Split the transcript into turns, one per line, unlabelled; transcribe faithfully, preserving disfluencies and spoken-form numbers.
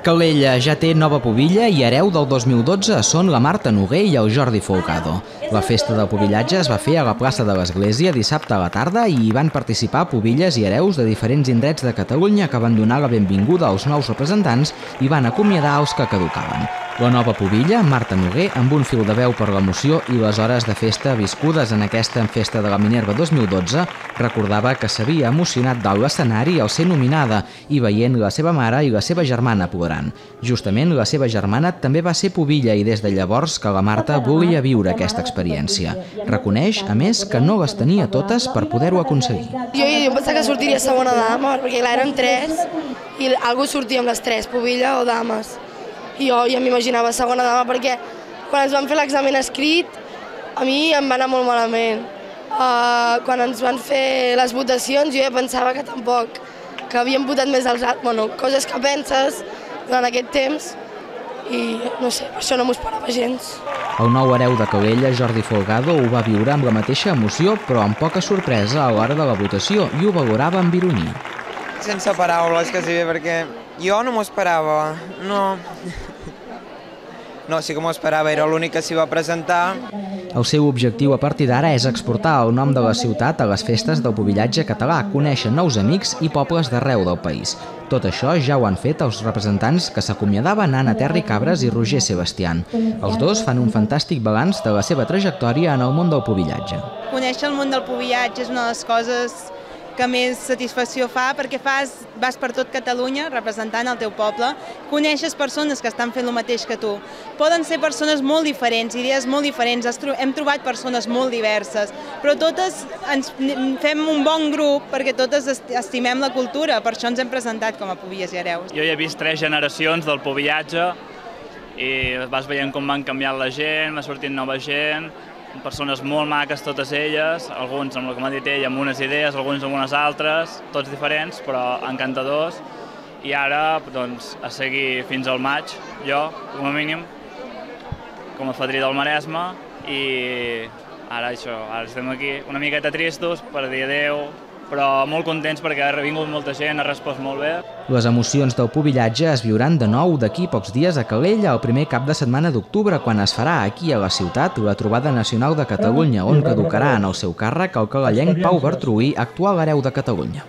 Calella ja té nova pubilla i hereu del dos mil dotze són la Marta Noguer i el Jordi Folgado. La festa del pubillatge es va fer a la plaça de l'Església dissabte a la tarda i hi van participar pubilles i hereus de diferents indrets de Catalunya que van donar la benvinguda als nous representants i van acomiadar els que caducaven. La nova pubilla, Marta Noguer, amb un fil de veu per l'emoció i les hores de festa viscudes en aquesta festa de la Minerva dos mil dotze, recordava que s'havia emocionat dalt l'escenari al ser nominada i veient la seva mare i la seva germana plorant. Justament la seva germana també va ser pubilla i des de llavors que la Marta volia viure aquesta experiència. Reconeix, a més, que no les tenia totes per poder-ho aconseguir.
Jo, jo pensava que sortiria segona dama, perquè clar, eren tres i algú sortia amb les tres, pubilla o dames. I jo ja m'imaginava segona dama perquè quan ens van fer l'examen escrit a mi em va anar molt malament. Uh, quan ens van fer les votacions jo ja pensava que tampoc, que havíem votat més als altres, bueno, coses que penses durant aquest temps i no sé, per això no m'ho esperava gens.
El nou hereu de Calella, Jordi Folgado, ho va viure amb la mateixa emoció però amb poca sorpresa a l'hora de la votació i ho valorava amb ironia.
Sense paraules, quasi bé, perquè jo no m'ho esperava, no... No, sí que m'ho esperava, era l'únic que s'hi va presentar.
El seu objectiu a partir d'ara és exportar el nom de la ciutat a les festes del pubillatge català, conèixer nous amics i pobles d'arreu del país. Tot això ja ho han fet els representants que s'acomiadaven Anna Terri Cabres i Roger Sebastián. Els dos fan un fantàstic balanç de la seva trajectòria en el món del pubillatge.
Conèixer el món del pubillatge és una de les coses que més satisfacció fa, perquè fas, vas per tot Catalunya representant el teu poble, coneixes persones que estan fent el mateix que tu. Poden ser persones molt diferents, idees molt diferents, hem trobat persones molt diverses, però totes ens fem un bon grup perquè totes estimem la cultura, per això ens hem presentat com a pubilles i hereus.
Jo ja he vist tres generacions del pubillatge i vas veient com van canviant la gent, va sortint nova gent, persones molt maques totes elles, alguns amb el que m'ha dit ell amb unes idees, alguns amb unes altres, tots diferents però encantadors, i ara doncs, a seguir fins al maig, jo com a mínim, com a fadrí del Maresme, i ara això, ara estem aquí una miqueta tristos per dir adeu, però molt contents perquè ha vingut molta gent, ha respost molt bé.
Les emocions del pubillatge es viuran de nou d'aquí pocs dies a Calella el primer cap de setmana d'octubre, quan es farà aquí a la ciutat la Trobada Nacional de Catalunya, on caducarà en el seu càrrec el calellenc Pau Bartruí, actual hereu de Catalunya.